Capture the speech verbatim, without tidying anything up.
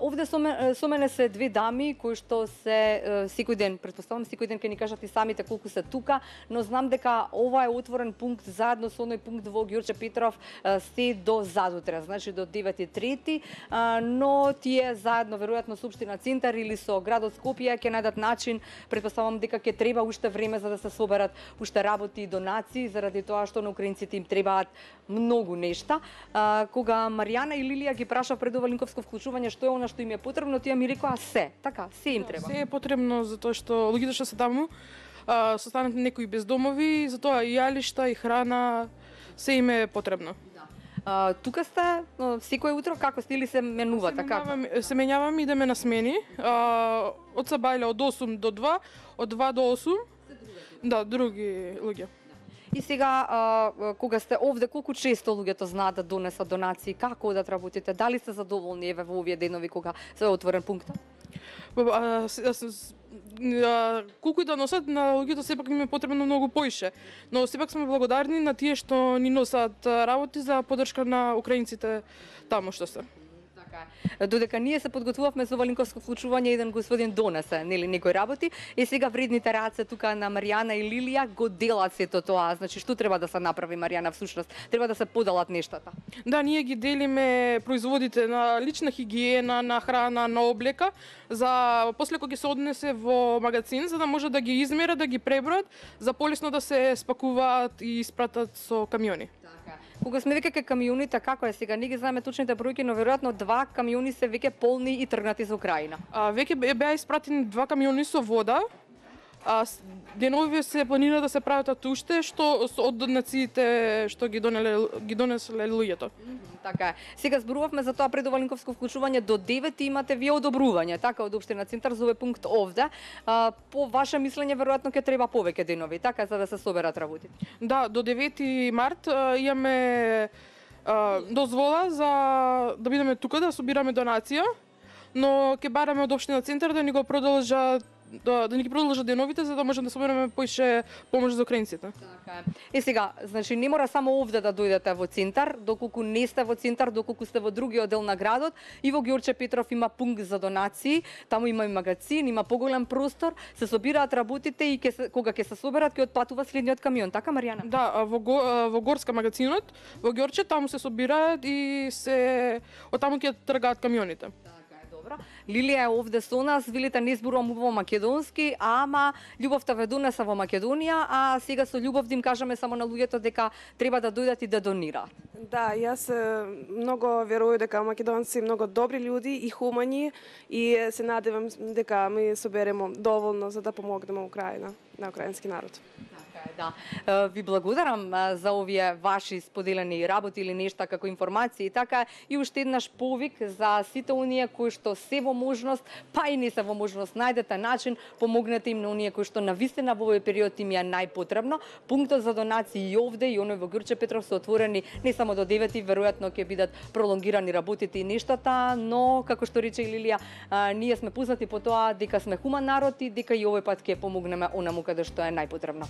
овде со мене, со мене се две дами кои што се секој ден, претпоставам секој ден ќе ни кажат и самите колку се тука, но знам дека ова е отворен пункт заедно со оној пункт во Ѓорче Петров се до задутре, значи до девет и трети, но тие заедно веројатно со општина Центар или со градот Скопје ќе најдат начин, претпоставам дека ќе треба уште време за да се соберат уште работи и донации заради тоа што на украинците им требаат многу нешта. Кога Маријана и Лилија ги праша пред ова линковско вклучување што е она што им е потребно, тие ми рекоа се, така, се им треба. Се е потребно затоа што луѓето што се таму се останат некои бездомови, затоа и јалишта и храна се им е потребно. А, тука сте секој утро како сте или се менува така? Се менјаваме, идеме на смени. А, од Сабајле од осум до два, од два до осум. Да, други луѓе. И сега, а, кога сте овде, колку често луѓето знаат да донесат донации, како да работите, дали сте задоволни еве во овие денови кога се е отворен пунктот? Колку и да носат, на луѓето сепак им е потребно многу поише, но сепак сме благодарни на тие што ни носат работи за поддршка на украинците таму што се. Додека ние се подготвувавме за ова линковско вклучување, еден господин донесе, нели, некои работи, и сега вредните раце тука на Маријана и Лилија го делат сето тоа. Значи, што треба да се направи, Маријана, всушност? Треба да се поделат нештата. Да, ние ги делиме производите на лична хигиена, на храна, на облека, за после кога ќе се однесе во магазин, за да може да ги измерат, да ги преброат, за полесно да се спакуваат и испратат со камиони. Така. Кога сме веќе кај камионите, како е сега? Не ги знаеме точните бројки, но веројатно два камиони се веќе полни и тргнати за Украина. А, веќе беа испратени два камиони со вода. А денови се планира да се прават уште што од донациите што ги донеле ги донесле луѓето. Mm -hmm, така е. Сега зборувавме за тоа пред ова линковско вклучување до девет имате вие одобрување, така, од општина Центар за овој пункт овде. А, по ваше мислење веројатно ќе треба повеќе денови, така, за да се соберат работите. Да, до девети март а, имаме а, дозвола за да бидеме тука да собираме донација, но ќе бараме од општина Центар да ни го продолжат да, да ни ги продолжат деновите за да можеме да собереме поише помош за украинците. Така е. И сега, значи не мора само овде да дојдете во Центар, доколку не сте во Центар, доколку сте во другиот дел на градот, и во Ѓорче Петров има пункт за донации, таму има и магазин, има поголем простор, се собираат работите и ке се, кога ќе се соберат ќе отпатува следниот камион, така Маријана? Да, во во Горска магазинот, во Ѓорче таму се собираат и се од таму ќе тргаат камионите. Лилија е овде со нас, велите не зборувам во македонски, ама љубовта ве донеса во Македонија, а сега со љубов да им кажеме само на луѓето дека треба да дојдат и да донираат. Да, јас многу верувам дека македонци многу добри луѓе и хумани и се надевам дека ми соберемо доволно за да помогнеме Украина, на украински народ. Да. Ви благодарам за овие ваши споделени работи или нешта како информации и така, и уште еднаш повик за сите оние кои што се во можност, па и не се во можност, најдете начин, помогнете им на оние кои што навистина во овој период им е најпотребно. Пунктот за донации и овде и оној во Ѓорче Петров се отворени не само до девети, веројатно ќе бидат пролонгирани работите и нештата, но како што рече и Лилија, ние сме познати по тоа дека сме хуман народ и дека и овој пат ќе помогнеме онаму каде што е најпотребно.